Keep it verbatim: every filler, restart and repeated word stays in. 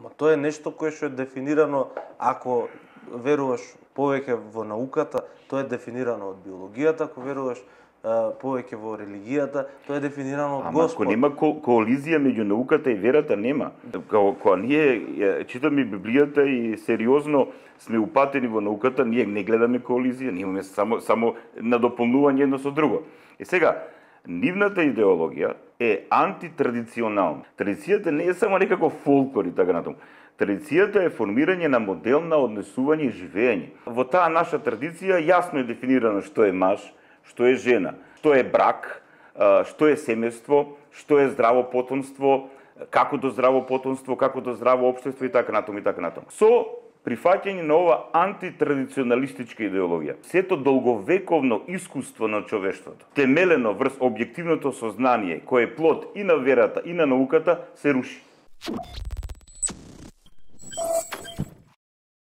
Ама тоа е нешто кое што е дефинирано, ако веруваш повеќе во науката, тоа е дефинирано од биологијата, ако веруваш повеќе во религијата, тоа е дефинирано од Господ. Ама ако нема ко коализија меѓу науката и верата, нема. Кога ние читаме Библијата и сериозно сме упатени во науката, ние не гледаме коализија, ние имаме само само надополнување едно со друго. И сега, нивната идеологија е антитрадиционална. Традицијата не е само некако фолклор и така натаму. Традицијата е формирање на модел на однесување и живење. Во таа наша традиција јасно е дефинирано што е маж, што е жена, што е брак, што е семејство, што е здраво потомство, како до здраво потомство, како до здраво општество и така натаму и така натаму. Со прифаќање на ова антитрадиционалистичка идеологија, сето долговековно искуство на човештвото, темелено врз објективното сознание, кое е плод и на верата и на науката, се руши.